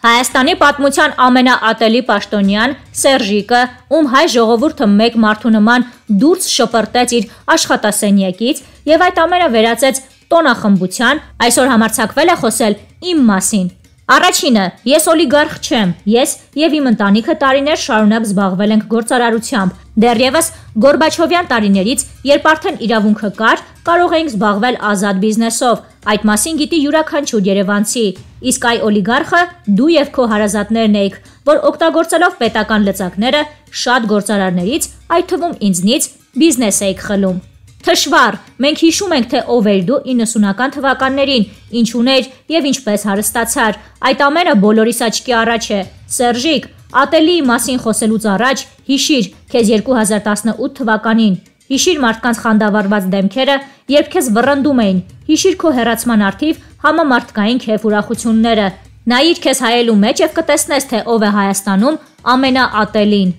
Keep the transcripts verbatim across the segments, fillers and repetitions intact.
Հայաստանի պատմության ամենաատելի պաշտոնյան Սերժիկը, ում հայ ժողովուրդը մեկ մարդու նման դուրս շպրտեց իր աշխատասենյակից եւ այդ ամենը վերածեց տոնախմբության, այսօր համարձակվել է խոսել իմ մասին։ Առաջինը, ես օլիգարխ չեմ, ես եւ իմ ընտանիքը տարիներ շարունակ զբաղվել ենք գործարարությամբ։ Դեռևս Գորբաչովյան տարիներից, երբ արդեն իրավունքը կար, կարող էինք զբաղվել ազատ բիզնեսով։ Այդ մասին գիտի յուրաքանչյուր երևանցի։ Իսկ այ օլիգարխը դու եւ քո հարազատներն էիք, որ օգտագործելով պետական լծակները շատ գործարարներից, այդ թվում ինձնից, բիզնես էիք խլում։ Թշվառ, մենք հիշում ենք, թե ով էր դու իննսունական թվականներին, ինչ ուներ եւ ինչպես հարստացար։ Այդ ամենը բոլորիս աչքի առաջ է։ Սերժիկ, ատելիի մասին խոսելուց առաջ հիշիր քեզ երկու հազար տասնութ թվականին։ Հիշիր մարդկանց խանդավառված դեմքերը, երբ քեզ վռնդում էին։ Հիշիր քո հեռացման արդիվ համամարտկային քեֆ ուրախությունները։ Նայիր քեզ հայելու մեջ եւ կտեսնես, թե ով է Հայաստանում ամենաատելին։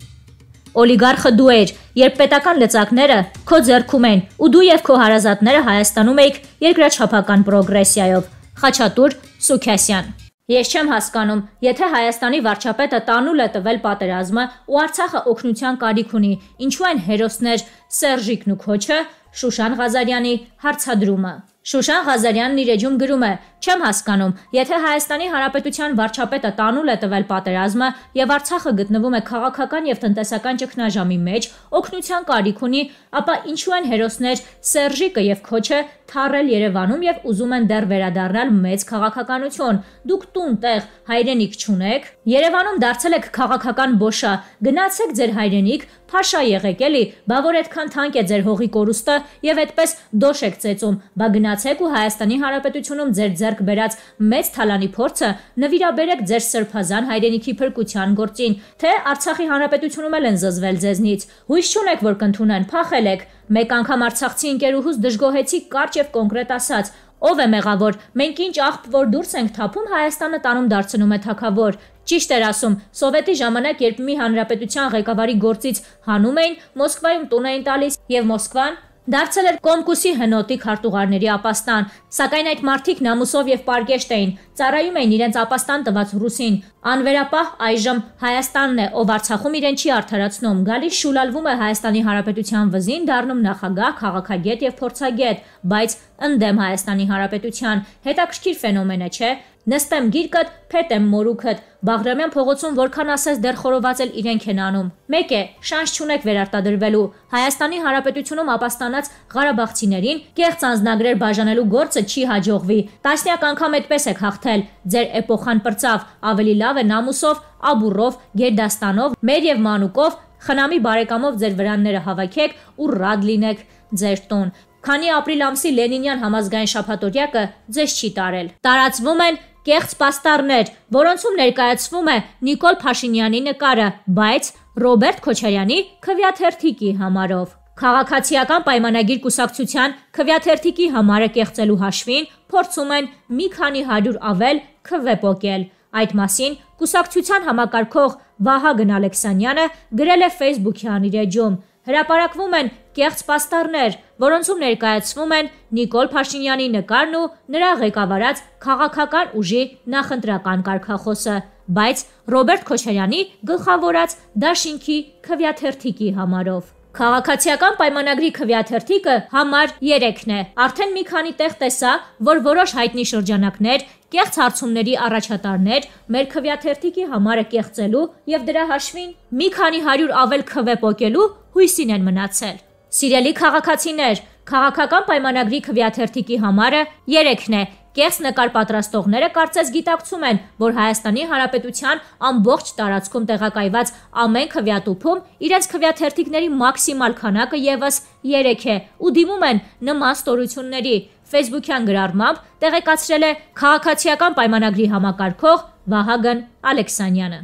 Օլիգարխը դու էր, երբ պետական լծակները քո ձեռքում են, ու դու եւ քո հարազատները Հայաստանում եք երկրաչափական պրոգրեսիայով։ Խաչատուր Սուքասյան։ Ես չեմ հասկանում, եթե Հայաստանի վարչապետը տանուլ է տվել պատերազմը ու Արցախը օգնության կարիք ունի, ինչու են հերոսներ Սերժիկն ու Քոչը, Շուշան Ղազարյանի հարցադրումը։ Շուշան Ղազարյանն իր էջում գրում է. «Չեմ հասկանում, եթե Հայաստանի Հանրապետության վարչապետը տանուլ է տվել պատերազմը եւ Արցախը գտնվում է քաղաքական եւ տնտեսական ճգնաժամի մեջ, օգնության կարիք ունի, ապա ինչու են հերոսներ Սերժիկը եւ Քոչը թառել Երևանում եւ ուզում են դեռ վերադառնալ մեծ քաղաքականություն։ Դուք տուն տեղ հայրենիք չունեք, Երևանում դարձել եք քաղաքական բոշա, գնացեք ձեր հայրենիք, փաշա եղեք էլի, բա որ այդքան թանկ է ձեր հողի կորուստը եւ այդպես դոշ եք ծեծում, բա գնացեք ու Հայաստանի Հանրապետությունում ձեր ձեռք բերած մեծ թալանի փորձը նվիրաբերեք ձեր սրբազան հայրենիքի փրկության գործին, թե Արցախի Հանրապետությունում էլ են զզվել ձեզնից։ Հույս չունեք, որ կընդունեն, փախել եք։ Մեկ անգամ արցախցի ընկերուհուս դժգոհեցի կարճ եւ կոնկրետ ասաց. ով է մեղավոր, մենք ինչ աղբ որ դուրս ենք թափում, Հայաստանը տանում դարձնում է թագավոր։ Ճիշտ էր ասում, սովետի ժամանակ, երբ մի հանրապետության ղեկավարի գործից հանում էին, Մոսկվայում տուն էին տալիս եւ Մոսկվան դարձել էր Կոմկուսի հնոտի քարտուղարների ապաստան, սակայն այդ մարդիկ նամուսով եւ պարկեշտ էին, ծառայում էին իրենց ապաստան տված ռուսին։ Անվերապահ այժմ Հայաստանն է, ով Արցախում իրեն չի արդարացնում, գալիս շուլալվում է Հայաստանի Հանրապետության վզին, դառնում նախագահ, քաղաքագետ եւ փորձագետ, բայց ընդդեմ Հայաստանի Հանրապետության։ Հետաքրքիր ֆենոմեն է, չէ՞։ Նստեմ գիրկդ, փետեմ մորուքդ, Բաղրամյան փողոցում որքան ասես դեռ խորոված էլ իրենք են անում։ Մեկ է, շանս չունեք վերարտադրվելու։ Հայաստանի Հանրապետությունում ապաստանած ղարաբաղցիներին կեղծ անձնագրեր բաժանելու գործը չի հաջողվի։ Տասնյակ անգամ այդպես եք հաղթել։ Ձեր էպոխան պրծավ, ավելի լավ է նամուսով, աբուրով, գերդաստանով, մեր եւ մանուկով, խնամի բարեկամով ձեր վրանները հավաքեք ու ռադ լինեք ձեր տուն։ Քանի ապրիլ ամսի Լենինյան համազգային շաբաթօրյակը ձեզ չի տարել։ Տարածվում են կեղծ պաստառներ, որոնցում ներկայացվում է Նիկոլ Փաշինյանի նկարը, բայց Ռոբերտ Քոչարյանի քվեաթերթիկի համարով։ Քաղաքացիական պայմանագիր կուսակցության քվեաթերթիկի համարը կեղծելու հաշվին փորձում են մի քանի հարյուր ավել քվե պոկել։ Այդ մասին կուսակցության համակարգող Վահագն Ալեքսանյանը գրել է Facebook-յան իր էջում։ Հրապարակվում են կեղծ պաստառներ, որոնցում ներկայացվում են Նիկոլ Փաշինյանի նկարն ու նրա ղեկավարած քաղաքական ուժի նախընտրական կարգախոսը, բայց Ռոբերտ Քոչարյանի գլխավորած դաշինքի քվեաթերթիկի համարով։ Քաղաքացիական պայմանագրի քվեաթերթիկը համար երեքն է։ Արդեն մի քանի տեղ տեսա, որ որոշ հայտնի շրջանակներ, կեղծ հարցումների առաջատարներ մեր քվեաթերթիկի համարը կեղծելու եւ դրա հաշվին մի քանի հարյուր ավել քվե պոկելու հույսին են մնացել։ Սիրելի քաղաքացիներ, քաղաքական պայմանագրի քվեաթերթիկի համարը երեքն է։ Կեղծ նկար պատրաստողները կարծես գիտակցում են, որ Հայաստանի Հանրապետության ամբողջ տարածքում տեղակայված ամեն քվեատուփում իրենց քվեաթերթիկների մաքսիմալ քանակը եւս երեք է ու դիմում են նման ստորությունների։ Facebook-յան գրառմամբ տեղեկացրել է քաղաքացիական պայմանագրի համակարգող Վահագն Ալեքսանյանը։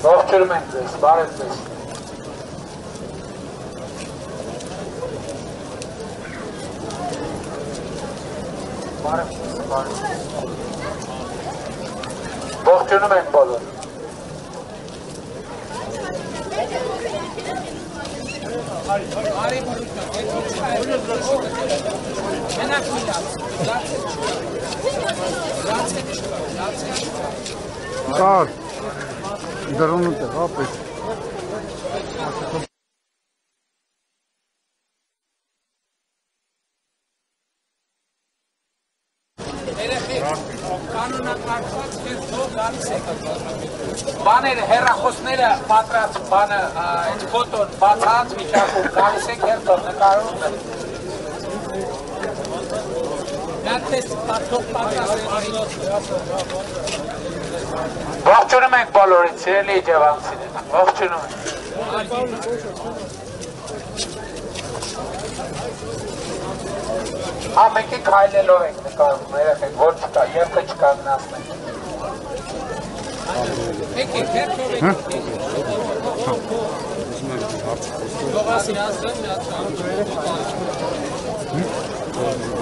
Ողջունում ենք ձեզ, բարև ձեզ։ Բարև ձեզ, բարև ձեզ։ Ողջունում ենք բոլոր։ Կար, դրոնուտ է, ապետ։ Բաները, հեռախոսները պատրած, բանը, այդ ֆոտոն բացած վիճակում, գալիս եք հերթով նկարում է։ Ողջունում ենք բոլորին, սիրելի իջևանցիներ, ողջունում ենք։ Հա, մեկի քայլելով ենք նկարում, երեխեք, որ չկա, երբը չկանգնացնենք։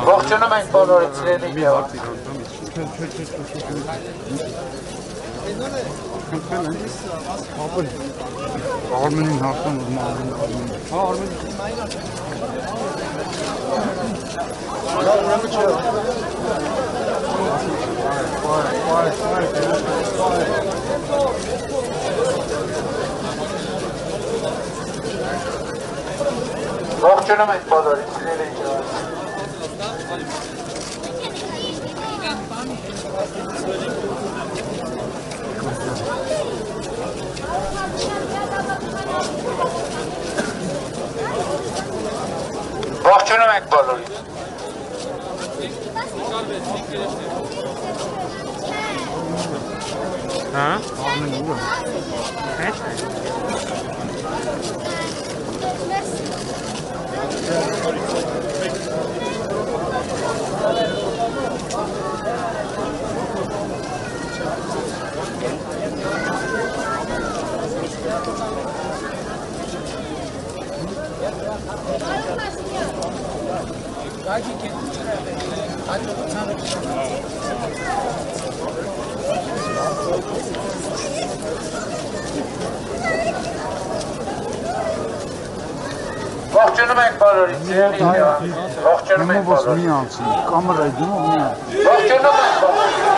Ողջունում ենք բոլորին, սիրելի Արմենին հաղթան ուզում արմենին, հա Ողջունում ենք բոլորին, սիրելի իջևանցիներ։ Ողջունում ենք բոլորին։ Հա, արմենին ուր է։ Ողջունում ենք բոլորին, սիրելի իջևանցիներ, ողջունում ենք բոլորին։ Մի անցին, կամերայի դիմով մի անցին։ Ողջունում ենք բոլորին։